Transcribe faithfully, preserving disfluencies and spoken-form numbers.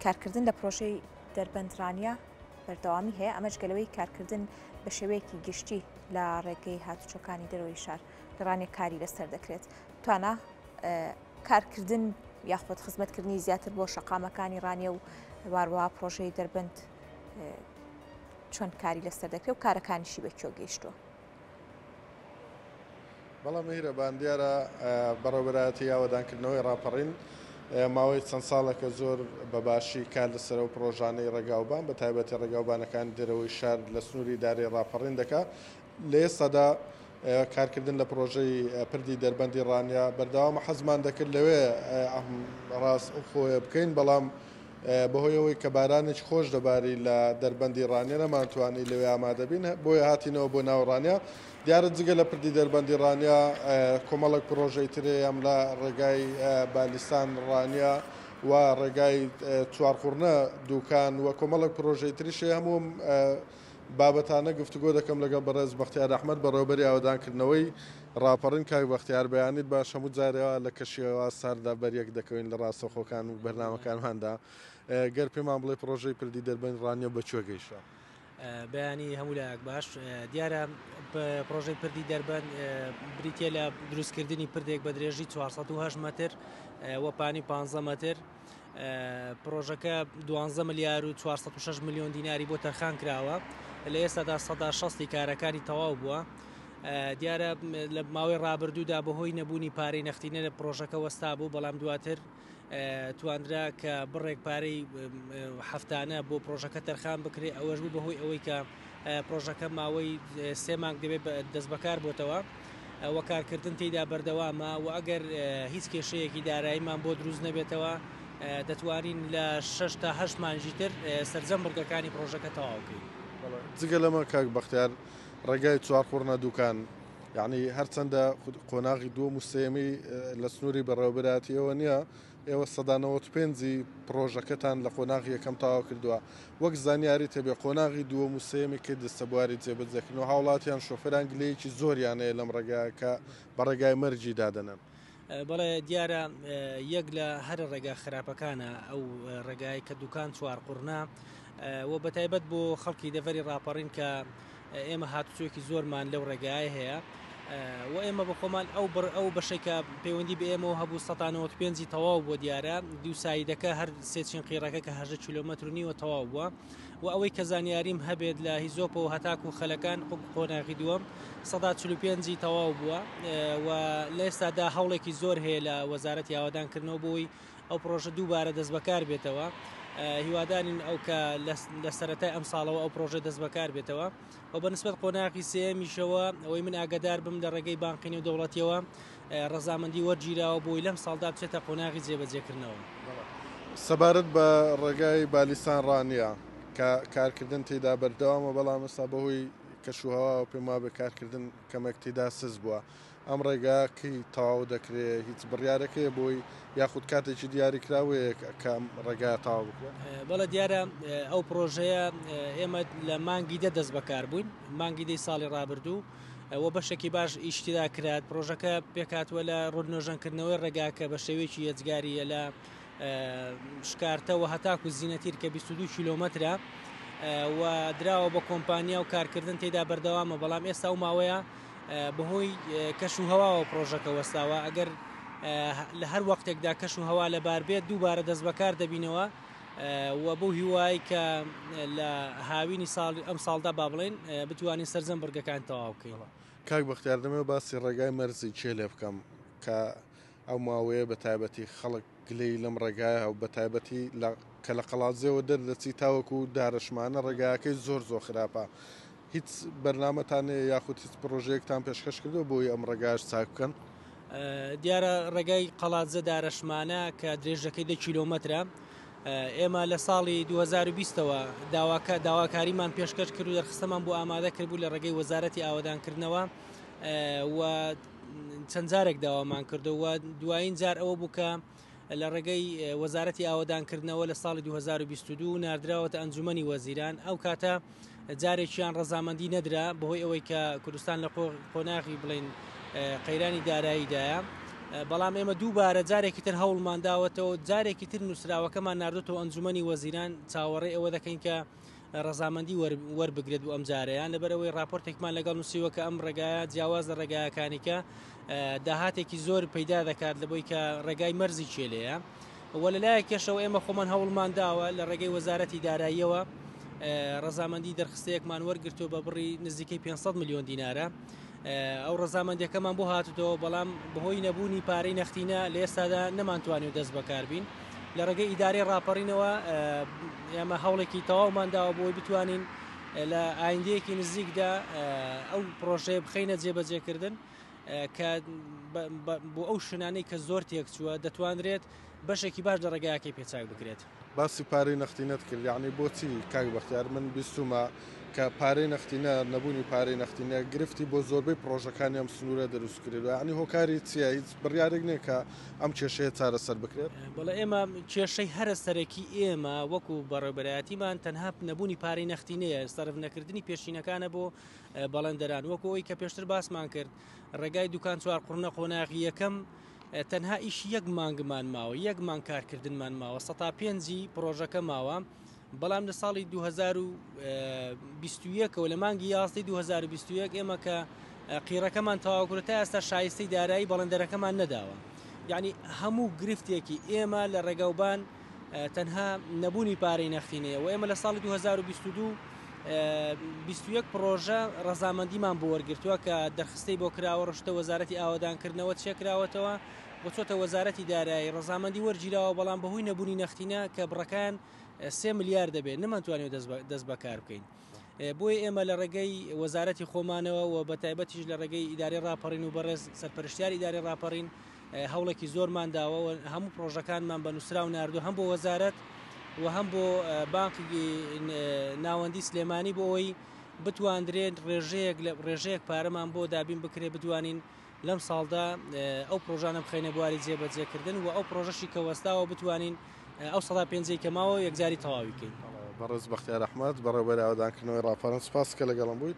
کارکردن لە پرۆژەی دەربەند ڕانیە بەردەوامی هەیە، ئەمەش گەلەوەی کارکردن بە شێوەیەکی گشتی لە ڕێگەی هاتوچۆکانی دەرەوەی شار لە ڕانیە کاری لەسەر دەکرێت. توانا کارکردن یاخود خزمەتکردنی زیاتر بۆ شەقامەکانی ڕانیە و واروە پرۆژەی دەربەند چۆن کاری لەسەر دەکرێت و کارەکانیشی بەکوێ گەیشتووە؟ بەڵام میهرەبان، دیارە بەڕێوەبەرایەتی ئاوەدانکردنەوەی ڕاپەڕین ماوەی چەند ساڵێکە زۆر بەباشی کار لەسەر ئەو پرۆژانەی ڕێگاوبان بە تایبەتی ڕێگاوبانەکانی دەرەوەی شار لە سنووری دارەی ڕاپەڕین دەکا. لە ئێستادا کارکردن لە پرۆژەی پردی دەربەندی ڕانیە بەردەوامە. حەزمان دەکرد لەوێ ڕاست خۆیە بکەین، بەڵام بەهۆی ئەوەی کە بارانێکی خۆش دەباری لە دەربەندی ڕانیە نەمانتوانی لەوێ ئامادە بین، بۆیە هاتینەوە بۆ ناو ڕانیە. دیارە جگە لە پردی دەربەندی ڕانیە کۆمەڵێک پرۆژەی ترێ ئەم لە ڕێگای بالیستان ڕانیە و ڕێگای چوارقوڕنە دوکان و کۆمەڵێک پرۆژەی تریشێ. هەموو بابەتانە گفتوگۆ دەکەم لەگەڵ بەڕێز بەختیار ئەحمەد بەڕێوەبەری ئاوەدانکردنەوەی ڕاپەڕین. کاک بەختیار، بەیانیت باش. هەموو جارێەوە لە کەشیەوە ساردا بەریەک دەکەوین لە ڕاستەوخۆکان و بەرنامەکانماندا. گەر پێمان بڵێ پرۆژەی پردی دەربەند ڕانیە بەکوێ گەیشتووە؟ بەیانی هەموو لایەک باش. دیارە پرۆژەی پردی دەربەند بریتە لە دروستکردنی پردێک بە درێژی چوار سەد و هەشت مەتر و پانی پانزە مەتر. پرۆژەکە دوانزە ملیار و چوار سەد و شەش ملیۆن دیناری بۆ تەرخان کراوە. لە ئێستادا سەدا شەستی کارەکانی تەواو بووە. دیارە لە ماوەی ڕابردوودا بەهۆی نەبوونی پارەی نەختینە لە پرۆژەکە وەستا بوو، بەڵام دواتر تواندرا کە بڕێک پارەی هەفتانە بۆ پرۆژەکە تەرخان بکرێت. ئەوەش بوو بەهۆی ئەوەی کە پرۆژەکە ماوەی سێ مانگ دەبێت دەست بەکار بۆتەوە و کارکردن تێیدا بەردەوامە و ئەگەر هیچ کێشەیەکی داراییمان بۆ دروست نەبێتەوە دەتوانین لە شەش تا هەشت مانگی تر سەرجەم بڕگەکانی پرۆژەکە تەواو بکەین. جگە لەمە کاک بەختیار، ڕێگای چوارقوڕنە دوکان یعنی هەرچەندە قۆناغی دووەم و سێیەمی لە سنووری بەڕێوەبەرایەتیەوە نییە، ئێوە سەدا نەوەد و پێنجی پرۆژەکەتان لە قۆناغی یەکەم تەواو کردووە. وەک زانیاری تێبێ قۆناغی دووەم و سێیەمی کەی دەستە بواری جێبەجێکردن و هاوڵاتیان شۆفێران گلەیەکی زۆریان هەیە لەم ڕێگایە کە بە ڕێگای مەرگی دادەنن؟ بەڵێ دیارە یەک لە هەر ڕێگا خراپەکانە ئەو ڕێگای کە دوکان چوارقوڕنە و بەتایبەت بۆ خەڵکی دەڤەری ڕاپەڕین کە ئێمە هاتوچۆیەکی زۆرمان لەو ڕێگایە هەیە و ئێمە بە خۆمان ئەو بڕ ئەو بەشێک کە پەیوەندی بە ئێمەوە هەبوو سەدا نەوەد و پێنجی تەواو بۆ دیارە. دوو سایدەکە هەر سێ چین قیڕەکە کە هەژدە کیلۆمەتر و نیوە تەواو بووە و ئەوەی کە زانیاریم هەبێت لە هیزۆپەوە هەتاکو خەلەکان قۆناغی دووەم سەدا چل و پێنجی تەواو بووە و لە ئێستادا هەوڵێکی زۆر هەیە لە وەزارەتی ئاوەدانکردنەوە بۆی ئەو پرۆژە دووبارە دەست بەکار بێتەوە. هیوادارین ئەو کە لە سەرەتای ئەم ساڵەوە ئەو پرۆژە دەست بەکار بێتەوە و بەنسبەت قۆناغی سێیەمیشەوە ئەوەی من ئاگادار بم لە ڕێگەی بانقی نێودەوڵەتیەوە ڕەزامەندی وەرگیراوە بۆی لەم ساڵدا بچێتە قۆناغی جێبەجێکردنەوە. سەبارەت بە ڕێگای بالیسان ڕانیە کە کارکردن تێدا بەردەوامە، بەڵام ئێستا بەهۆی کەشوهەواوە پێم وابێ کارکردن کەمێک تێدا سز بووە. ئەم ڕێگا کەی تەواو دەکرێت؟ هیچ بڕیارەکەیە بۆی یاخود کاتێکی دیاریکراوەیە کە ئەم ڕێگا تەواو بکرێت؟ بەڵێ دیارە ئەو پرۆژەیە ئێمە لە مانگی دە دەست بەکار بووین، مانگی دەی ساڵی ڕابردوو و بەشێکی باش ئیشتیدا کرات. پرۆژەکە پێکهاتووە لە ڕوونۆژەنکردنەوەی ڕێگاکە بە شێوەیەکی یەجگاریە لە شکارتەوە هەتاکو زینەتیر کە بیست و دوو کیلۆمەترە و دراوە بە کۆمپانیا و کارکردن تێدا بەردەوامە، بەڵام ئێستا ئەو ماوەیە بەهۆی کەش و هەواوە پرۆژەکە وەستاوە. ئەگەر لە هەر وەختێکدا کەش و هەوا لەبار بێت دووبارە دەست بەکار دەبینەوە و بەو هیوای کە لە هاوینی ساڵ ئەم ساڵدا با بڵێن بتوانین سەرجەم بڕگەکان تەواو بکەین. کاک بەختیار، دەمەوێت باسی ڕێگای مەرزی کێ لێ بکەم کە ئەو ماوەیە بە تایبەتی خەڵک گلەی لەم ڕێگایە و بە تایبەتی کە لە قەڵادزێوە دەردەچی تاوەکو دارەشمانە ڕێگاکەی زۆر زۆر خراپە. هیچ بەرنامەتان هەیە یاخود هیچ پرۆژەیەکتان پێشکەش کردو بۆی ئەم ڕێگاش چاک بکەن؟ دیارە ڕێگای قەڵادزە دارەشمانە کە درێژەکەی دە کیلۆمەترە، ئێمە لە ساڵی دوو هەزار و بیستەوە داواکاریمان پێشکەش کرد و دەرخستەمان بۆ ئامادە کرد بوو لە ڕێگەی وەزارەتی ئاوەدانکردنەوە و چەند جارێک داوامان کردەوە. دوایین جار ئەوە بوو کە لە ڕێگەی وەزارەتی ئاوەدانکردنەوە لە ساڵی دوو هەزار و بیست و دوو ناردراوەتە ئەنجومەنی وەزیران. ئەو کاتە جارێکیان ڕەزامەندی نەدرا بەهۆی ئەوەی کە کوردستان لە قۆناغی بڵین قەیرانی داراییدایە. بەڵام ئێمە دووبارە جارێکی تر هەوڵمان داوەتەوە، جارێکی تر نووسراوەکەمان ناردوتەوە ئەنجومەنی وەزیران، چاوەڕێ ئەوە دەکەین کە ڕەزامەندی وەربگرێت بۆ ئەم جارەیان، لەبەرەوەی راپۆرتێکمان لەگەڵ نووسیوە کە ئەم ڕێگایە جیاواز لە ڕێگایەکانی کە داهاتێکی زۆر پەیدا دەکات لەبۆی کە ڕێگای مەرزی کێلەیە. وە لەلایەک کێشەوە ئێمە خۆمان هەوڵمان داوە لە ڕێگەی وەزارەتی داراییەوە ڕەزامەندی دەرخستەیەکمان وەرگرتووە بە بڕی نزیکەی پێنج سەد ملیۆن دینارە. ئەو ڕەزامەندیەکەمان بۆ هاتوتەوە، بەڵام بەهۆی نەبوونی پارەی نەختینە لە ئێستادا نەمانتوانیوە دەست بەکاربین. لە ڕێگەی ئیدارەی ڕاپەڕینەوە ئێمە هەوڵێکی تەواومان داوە بۆی بتوانین لە ئایندەیەکی نزیکدا ئەو پرۆژەیە بخەینە جێبەجێکردن کە بۆ ئەو شوێنانەی کە زۆر تێکچووە دەتوانرێت بەشێکی باش لە ڕێگایەکەی پێچاک بکرێت. باسی پارەی نەختینەت کرد، یعنی بۆچی کاک بەختیار من بیستومە کە پارەی نەختینە، نەبوونی پارەی نەختینە گرفتی بۆ زۆربەی پرۆژەکانی ئەم سنوورە دروست کردووە، یعنی هۆکاری چییە؟ هیچ بڕیارێک نییە کە ئەم کێشەیە چارەسەر بکرێت؟ بەڵێ، ئێمە کێشەی هەرە سەرەکی ئێمە وەکو بەڕێوەبەرایەتیمان تەنها نەبوونی پارەی نەختینەیە، سەرف نەکردنی پێشینەکانە بۆ بەڵێندەران. وەکو ئەوەی کە پێشتر باسمان کرد، ڕێگای دوکان چوار قوڕنە قۆناغی یەکەم تەنها ئیش یەک مانگمان ماوە، یەک مانگ کارکردنمان ماوە، سەتا پێنجی پرۆژەکە ماوە. بەڵام لە ساڵی دوو هەزار و بیست و یەکەوە لە مانگی یازدەی دوو هەزار و بیست و یەک ئێمە کە قیڕەکەمان تەواو کرد تا ئێستا شایستەی دارایی بەڵێندەرەکەمان نەداوە. یعنی هەموو گرفتێکی ئێمە لە ڕێگاوبان تەنها نەبوونی پارەی نەختینەیە. و ئێمە لە ساڵی دوو هەزار و بیست و دوو بیست و یەک پرۆژە ڕەزامەندیمان بۆ وەرگرتووە کە دەرخستەی بۆ کراوە، ڕشتە وەزارەتی ئاوەدانکردنەوە چێکراوەتەوە، بۆ چۆتە وەزارەتی دارایی ڕەزامەندی وەرگیراوە، بەڵام بەهۆی نەبوونی نەختینە کە بڕەکان سێ ملیار دەبێت نەمانتوانیوە دەست بەکار بکەین. بۆیە ئێمە لە ڕێگەی وەزارەتی خۆمانەوە و بە تایبەتیش لە ڕێگەی ئیدارەی ڕاپەڕین و بەڕێز سەرپەرشتیاری ئیدارەی ڕاپەڕین هەوڵێکی زۆرمان داوە و هەموو پرۆژەکانمان بە نووسراو ناردوو، هەم بۆ وەزارەت و هەم بۆ بانقی ناوەندی سلێمانی بۆ ئەوەی بتواندرێت ڕێژەیەک لە ڕێژەیەک پارەمان بۆ دابین بکرێت، بتوانین لەم ساڵدا ئەو پرۆژانە بخەینە بواری جێبەجێکردن و ئەو پرۆژەشی کە وەستاوە بتوانین ئەو سەدا پێنجەی کە ماوە یەکجاری تەواوی کەین. بەڕێز بەختیار ئەحمەد، بەڕێوەبەری ئاوەدانکردنەوەی ڕاپەڕین، سوپاس کە لەگەڵم بووی.